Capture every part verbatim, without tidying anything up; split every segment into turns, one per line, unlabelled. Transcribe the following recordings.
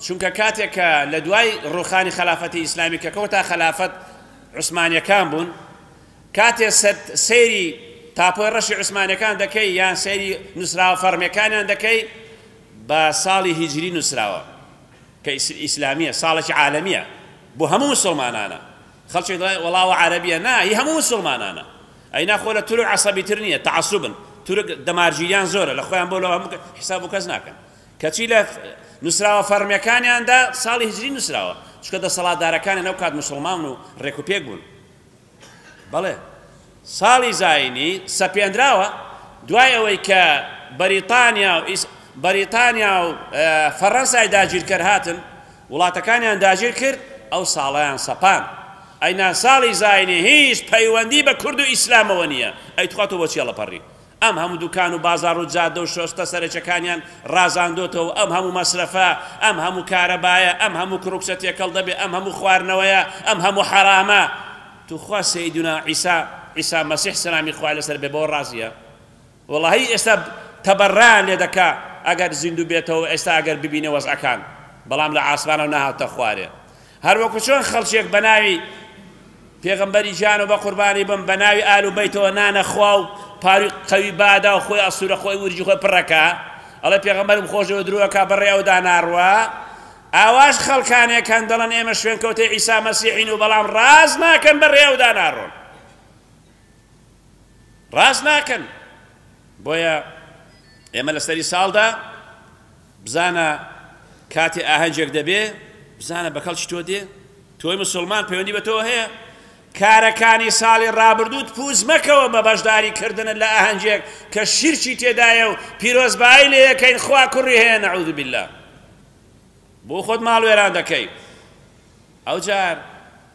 چونکە کاتێک کە لە دوای ڕوخانی خەلافەتی ئیسلامی کە کەوتا خەلافەت عوسمانیەکان بوون، کاتێ سەیری تاپۆی ڕەشی عوسمانیەکان دەکەی یان سەیری نووسراوە فەرمیەکانیان دەکەی بە ساڵی هیجری نووسراوە کە ئیسلامیە، ساڵێکی عالەمیە بۆ هەموو مسلمانانە. خەڵکی دەڵێ وەڵاوە عەرەبیە، نا، هی هەموو مسلمانانە. ئەی ناخۆ لە تورک عەسەبیتر نییە، تەعەسوبن، تورک دەمارگیریان زۆرە، لە خۆیان بۆ لەوە هەموو حیساب و کەس ناکەن. کەچی لە نووسراوە فەرمیەکانیاندا ساڵی هیجری نووسراوە، چونکە دەسەڵاتدارەکانیان ئەو کات مسلمان و ڕێکوپێک بوون. بەڵێ ساڵی زایینی سەپێنراوە دوای ئەوەی کە بەریتانیا و بەریتانیا و فەڕەنسای داگیرکەر هاتن وڵاتەکانیان داگیر کرد، ئەو ساڵیان سەپان. ئەینا ساڵی زایینی هیچ پەیوەندی بە کورد و ئیسلامەوە نییە. ئەی تخوا تۆ بۆچی هەڵەپەڕی؟ ئەم هەموو دوکان و بازاڕ و جادە و شۆستە سەرەکیەکانیان ڕازاندۆتەوە، ئەم هەموو مەسرەفە، ئەم هەموو کارەبایە، ئەم هەموو کڕوکسە تێکەڵ دەبێ، ئەم هەموو خواردنەوەیە، ئەم هەموو حەرامە. توخوا سەیدونا عیسا، عیسا مەسیح سەلامی خوای لەسەر بێ، بەوە ڕازیە؟ وەڵاهی ئێستا تەبەڕیان لێ دەکا ئەگەر زیندوو بێتەوە، ئێستا ئەگەر ببینێ وەزعەکان، بەڵام لە عاسمانەوە نەهاتە خوارێ. هەروەکو چۆن خەڵکێک بە ناوی پێغەمبەری گیان و بە قوربانی بم بە ناوی ئال و بەیتەوە نانەخوا و پاروی قەوی بادا و خۆی ئەسوورە خۆی ورجی خۆی پڕەکە، ئەڵێ پێغەمبەرم خۆشەوە درۆکە بەڕێ ئەودا ناڕوا. ئاواش خەڵکانێک هەن دەڵێن ئێمە شوێنکەوتەی عیسا مەسیحین و بەڵام ڕاست ناکەن بەڕێ ئەودا ناڕۆن، ڕاست ناکەن. بۆیە ئێمە لەسەری ساڵدا بزانە کاتێ ئاهەنگێک دەبێ، بزانە بە کەڵکی تۆ دێ، تۆی مسلمان پەیوەندی بە تۆ هەیە. کارەکانی ساڵی ڕابردووت پووز مەکەوە بە بەشداریکردنت لە ئاهەنگێک کە شیرکی تێدایە و پیرۆزبایی لێ یەکەین خوا کوڕی هەیە، نەعوذ بالله. بۆ خۆت ماڵ وێران دەکەی. ئەو جار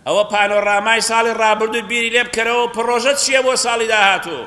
ئەوە پانۆرامای ساڵی ڕابردوو بیری لێ بکەرەوە، پڕۆژە چییە بۆ ساڵی داهاتوو؟